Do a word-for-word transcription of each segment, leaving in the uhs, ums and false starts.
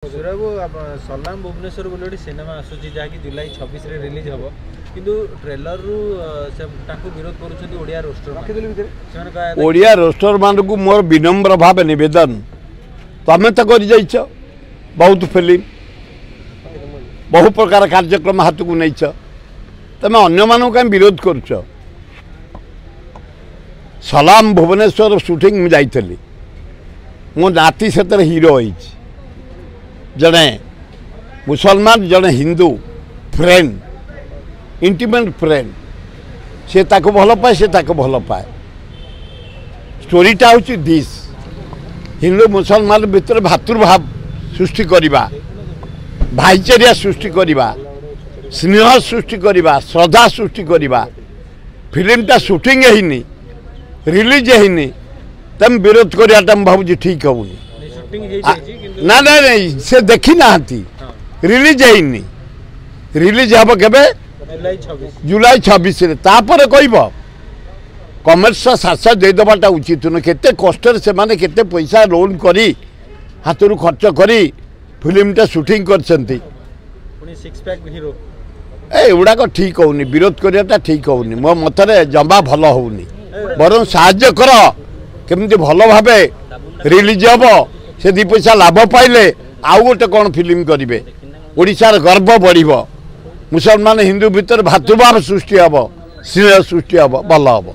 ସୁରବାବୁ, ସଲାମ ଭୁବନେଶ୍ୱର ବୋଲି ଗୋଟେ ସିନେମା ଆସୁଛି, ଯାହାକି ଜୁଲାଇ ଛବିଶରେ ରିଲିଜ୍ ହେବ, କିନ୍ତୁ ଟ୍ରେଲରରୁ ସେ ତାଙ୍କୁ ବିରୋଧ କରୁଛନ୍ତି ଓଡ଼ିଆ ରୋଷ୍ଟର ସେମାନେ। ଓଡ଼ିଆ ରୋଷ୍ଟରମାନଙ୍କୁ ମୋର ବିନମ୍ର ଭାବେ ନିବେଦନ, ତମେ ତ କରିଯାଇଛ ବହୁତ ଫିଲ୍ମ, ବହୁ ପ୍ରକାର କାର୍ଯ୍ୟକ୍ରମ ହାତକୁ ନେଇଛ, ତମେ ଅନ୍ୟମାନଙ୍କୁ କାହିଁ ବିରୋଧ କରୁଛ? ସଲାମ ଭୁବନେଶ୍ୱର ସୁଟିଂ ମୁଁ ଯାଇଥିଲି, ମୋ ନାତି ସେଥିରେ ହିରୋ ହେଇଛି। ଜଣେ ମୁସଲମାନ, ଜଣେ ହିନ୍ଦୁ ଫ୍ରେଣ୍ଡ, ଇଣ୍ଟିମେଟ୍ ଫ୍ରେଣ୍ଡ, ସେ ତାକୁ ଭଲ ପାଏ, ସେ ତାକୁ ଭଲ ପାଏ। ଷ୍ଟୋରିଟା ହେଉଛି this, Hindu ମୁସଲମାନ ଭିତରେ ଭାତୃଭାବ ସୃଷ୍ଟି କରିବା, ଭାଇଚାରିଆ ସୃଷ୍ଟି କରିବା, ସ୍ନେହ ସୃଷ୍ଟି କରିବା, ଶ୍ରଦ୍ଧା ସୃଷ୍ଟି କରିବା। ଫିଲ୍ମଟା ସୁଟିଂ ହେଇନି, ରିଲିଜ୍ ହେଇନି, ତେମେ ବିରୋଧ କରିବାଟା ମୁଁ ଭାବୁଛି ଠିକ୍ ହେଉନି। ନା ନା ନାଇଁ, ସେ ଦେଖି ନାହାନ୍ତି, ରିଲିଜ୍ ହେଇନି। ରିଲିଜ୍ ହେବ କେବେ? ଜୁଲାଇ ଛବିଶରେ, ତାପରେ କହିବ। କମର୍ସ ସାତ ଦେଇଦେବାଟା ଉଚିତ ନୁହେଁ। କେତେ କଷ୍ଟରେ ସେମାନେ କେତେ ପଇସା ଲୋନ୍ କରି ହାତରୁ ଖର୍ଚ୍ଚ କରି ଫିଲ୍ମଟା ସୁଟିଂ କରିଛନ୍ତି। ଏ ଏଗୁଡ଼ାକ ଠିକ୍ ହେଉନି, ବିରୋଧ କରିବାଟା ଠିକ୍ ହେଉନି, ମୋ ମତରେ ଜମା ଭଲ ହେଉନି। ବରଂ ସାହାଯ୍ୟ କର, କେମିତି ଭଲ ଭାବେ ରିଲିଜ୍ ହେବ, ସେ ଦୁଇ ପଇସା ଲାଭ ପାଇଲେ ଆଉ ଗୋଟେ କ'ଣ ଫିଲ୍ମ କରିବେ, ଓଡ଼ିଶାର ଗର୍ବ ବଢ଼ିବ, ମୁସଲମାନ ହିନ୍ଦୁ ଭିତରେ ଭାତୃଭାବ ସୃଷ୍ଟି ହେବ, ସ୍ନେହ ସୃଷ୍ଟି ହେବ, ଭଲ ହେବ।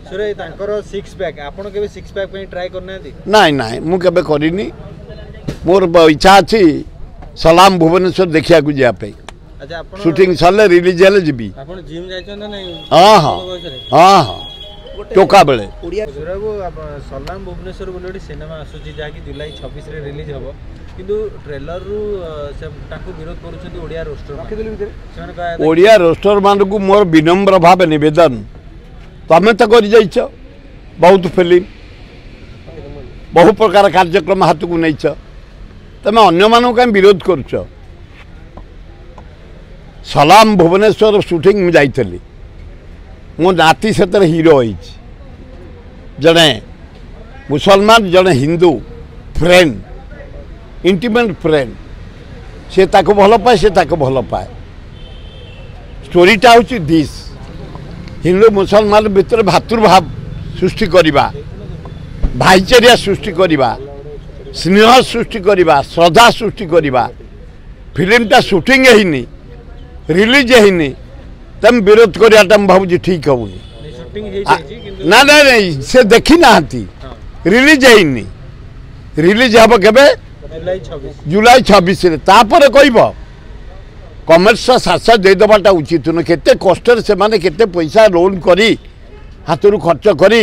ନାଇଁ ନାଇଁ, ମୁଁ କେବେ କରିନି। ମୋର ଇଚ୍ଛା ଅଛି ସଲାମ ଭୁବନେଶ୍ୱର ଦେଖିବାକୁ ଯିବା ପାଇଁ। ସୁଟିଂ ସରିଲେ ରିଲିଜ୍ ହେଲେ ଯିବି। ହଁ ହଁ ହଁ ହଁ, ଟୋକା ବେଳେ। ସୁରବାବୁ, ସଲାମ ଭୁବନେଶ୍ୱର ବୋଲି ଗୋଟେ ସିନେମା ଆସୁଛି, ଯାହାକି ଜୁଲାଇ ଛବିଶରେ ରିଲିଜ୍ ହେବ, କିନ୍ତୁ ଟ୍ରେଲରରୁ ସେ ତାଙ୍କୁ ବିରୋଧ କରୁଛନ୍ତି ଓଡ଼ିଆ ରୋଷ୍ଟର ସେମାନେ। ଓଡ଼ିଆ ରୋଷ୍ଟରମାନଙ୍କୁ ମୋର ବିନମ୍ର ଭାବେ ନିବେଦନ, ତମେ ତ କରିଯାଇଛ ବହୁତ ଫିଲ୍ମ, ବହୁ ପ୍ରକାର କାର୍ଯ୍ୟକ୍ରମ ହାତକୁ ନେଇଛ, ତମେ ଅନ୍ୟମାନଙ୍କୁ କାହିଁ ବିରୋଧ କରୁଛ? ସଲାମ ଭୁବନେଶ୍ୱର ସୁଟିଂ ମୁଁ ଯାଇଥିଲି, ମୋ ନାତି ସେଥିରେ ହିରୋ ହେଇଛି। ଜଣେ ମୁସଲମାନ, ଜଣେ ହିନ୍ଦୁ ଫ୍ରେଣ୍ଡ, ଇଣ୍ଟିମେଟ୍ ଫ୍ରେଣ୍ଡ, ସେ ତାକୁ ଭଲ ପାଏ, ସେ ତାକୁ ଭଲ ପାଏ। ଷ୍ଟୋରିଟା ହେଉଛି this, Hindu ମୁସଲମାନ ଭିତରେ ଭାତୃଭାବ ସୃଷ୍ଟି କରିବା, ଭାଇଚାରିଆ ସୃଷ୍ଟି କରିବା, ସ୍ନେହ ସୃଷ୍ଟି କରିବା, ଶ୍ରଦ୍ଧା ସୃଷ୍ଟି କରିବା। ଫିଲ୍ମଟା ସୁଟିଂ ହେଇନି, ରିଲିଜ୍ ହେଇନି, ତେମେ ବିରୋଧ କରିବାଟା ମୁଁ ଭାବୁଛି ଠିକ୍ ହେଉନି। ନା ନା ନାଇଁ, ସେ ଦେଖି ନାହାନ୍ତି, ରିଲିଜ୍ ହେଇନି। ରିଲିଜ୍ ହେବ କେବେ? ଜୁଲାଇ ଛବିଶରେ, ତାପରେ କହିବ। କମର୍ସ ସାତ ଦେଇଦେବାଟା ଉଚିତ ନୁହେଁ। କେତେ କଷ୍ଟରେ ସେମାନେ କେତେ ପଇସା ଲୋନ୍ କରି ହାତରୁ ଖର୍ଚ୍ଚ କରି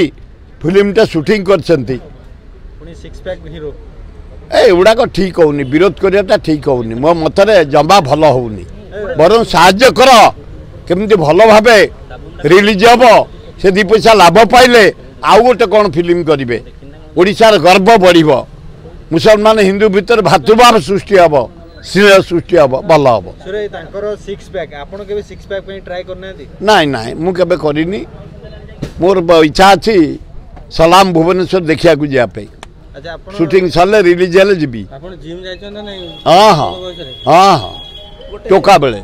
ଫିଲ୍ମଟା ସୁଟିଂ କରିଛନ୍ତି। ଏ ଏଗୁଡ଼ାକ ଠିକ୍ ହେଉନି, ବିରୋଧ କରିବାଟା ଠିକ୍ ହେଉନି, ମୋ ମତରେ ଜମା ଭଲ ହେଉନି। ବରଂ ସାହାଯ୍ୟ କର, କେମିତି ଭଲ ଭାବେ ରିଲିଜ୍ ହେବ, ସେ ଦୁଇ ପଇସା ଲାଭ ପାଇଲେ ଆଉ ଗୋଟେ କ'ଣ ଫିଲ୍ମ କରିବେ, ଓଡ଼ିଶାର ଗର୍ବ ବଢ଼ିବ, ମୁସଲମାନ ହିନ୍ଦୁ ଭିତରେ ଭାତୃଭାବ ସୃଷ୍ଟି ହେବ, ସ୍ନେହ ସୃଷ୍ଟି ହେବ, ଭଲ ହେବ। ନାଇଁ ନାଇଁ, ମୁଁ କେବେ କରିନି। ମୋର ଇଚ୍ଛା ଅଛି ସଲାମ ଭୁବନେଶ୍ୱର ଦେଖିବାକୁ ଯିବା ପାଇଁ। ସୁଟିଂ ସରିଲେ ରିଲିଜ୍ ହେଲେ ଯିବି। ହଁ ହଁ ହଁ ହଁ, ଟୋକା ବେଳେ।